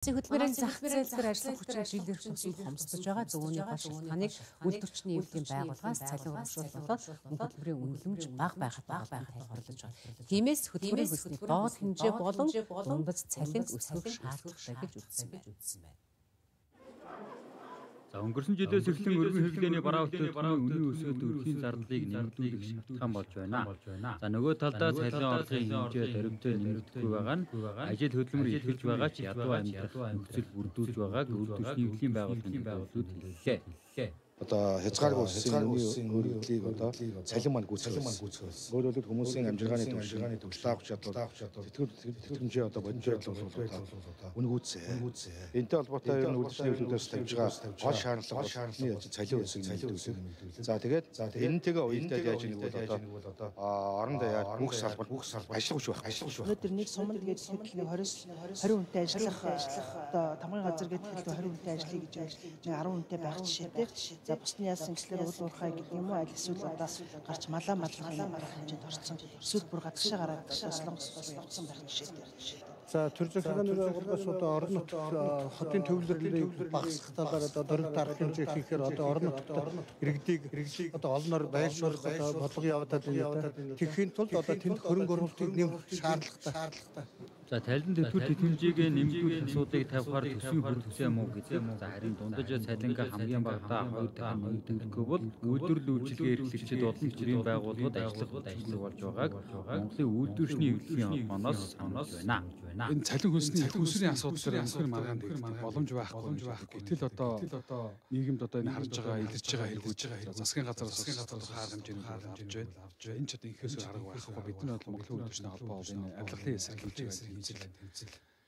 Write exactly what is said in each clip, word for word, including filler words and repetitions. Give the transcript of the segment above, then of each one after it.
Хөтөлбөрийн зах зээл дээр ажиллах хүчин жилэрх төсөл хомсдож байгаа зөвөөний ба шалтгааныг үйлдвэрчний эвлийн байгууллагаас цалин урамшуул болоод хөтөлбөрийн үнэлэмж бага байхад бага байхад тайлбарлаж байна. Тиймээс хөтөлбөрийн хүсний доод хэмжээ болон дундаж цалин өсгөх шаардлагатай гэж үзсэн байна. За өнгөрсөн жилээс эхлэн өргөн хэвлэлийн бараа хөтөлбөрийн үнийн өсөлт өрхийн зардлыг нэмэгдүүлэх шалтгаан болж байна. За нөгөө талдаа цалин орлогын хэмжээ дөрвөөр нэмэгдэхгүй байгаа нь ажил хөдөлмөр ихэлж байгаа ч ядуу амьдрах нөхцөл бүрдүүлж байгааг үйлдвэрчний эвлийн байгууллагын байгууллагууд хэллээ. Одоо хязгааргүй улсын өргөдлийг одоо цалин маань гүйцэтгэсэн. Өөрөөр хэлбэл хүмүүсийн амжиргааны амжиргааны төвлөлт авах чадвар, тэтгэмжээ одоо бодит байдал бол үнгүүцээ. Энтэй холбоотой энэ үйлдвэрчний хөлөөс тавьж байгаа гол шаардлага шаардлагын ажил цалин өсөг нэмэгдүүлэх. За тэгээд энэтэйгээ уялдаад яаж нэг бол одоо орон даяар бүх салбар бүх салбар ажиллах биш байх. Ажиллах биш байх. Өнөөдөр нэг суманд гээд хэлбэл хойроос хариу хүнтэй ажиллах одоо тамгын газар гээд хэлбэл хариу хүнтэй ажиллая гэж нэг арван хүнтэй байх жишээтэй. За бусны яасан гэхлээр уул уурхай гэдэг юм уу аль эсвэл одоо гарч малаа малгахын хэмжээнд орсон. Эсвэл бүр гадагшаа гараад солонгос явсан байх жишээтэй. За төр захиргааны байгууллагаас одоо орон нутг хотын төвлөрлөлийг багасгах талаар одоо дөрвөлт арга хэмжээ хийхээр одоо орон нутгад иргэдийг одоо олноор байлшуулах одоо бодлого явуулаад байна. Тэгэхийн тулд одоо тэнд хөрөнгө оруулалтыг нэмэх шаардлагатай. За талент төвлөрт тэтгэмжийг нэмэгдүүлэх асуудлыг тавихаар төсвийн хөр төсөө муу гэдэг. За харин дундаж цалингаа хамгийн багадаа хоёр дахин нэмэгдүүлэхгүй бол үйлдвэрлэл үйлчилгээ эрхлэгчид болон төрийн байгууллагууд ажиллах ажил болж байгааг Монголын үйлдвэрчний эвлэлийн холбооноос сануулж байна. Энэ цалин хөлсний хүнсний асуудал анхны маргаанд боломж байхгүй байх. Гэтэл одоо нийгэмд одоо энэ харж байгаа, илэрч байгаа хэрэгж байгаа засгийн газараас засгийн газар хаар хэмжээний авч байна. Энэ ч одоо инхээс арга байхгүй. Бид нар бол Монголын үйлдвэрчний холбоо энэ авилгалын эсрэг хэмжээ.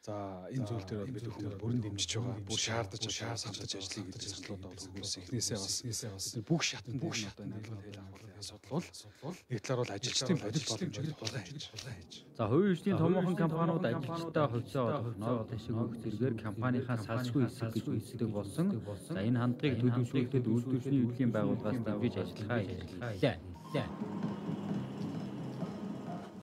За энэ зүйл дээр бид хүмүүс бүрэн дэмжиж байгаа. Бүр шаардаж шаар самтаж ажиллая гэж саналууд байгаа хүмүүс эхнээсээ бас бүх шатнд бүх шатнд хэлэх асуудал бол нэг талаар бол ажилчдын бодит боломжийг тулгай хийж байна. За хувийн хүчний томоохон компаниуд ажилчдаа хувьцаа олгох ташиг өгөх зэргээр компанийнхаа салшгүй хэсэг гэж үздэг болсон. За энэ хандлагыг төлөвшүүлэхэд үйлдвэрчний эвлэлийн байгууллагаас дэмжиж ажиллахаа илэрхийллээ.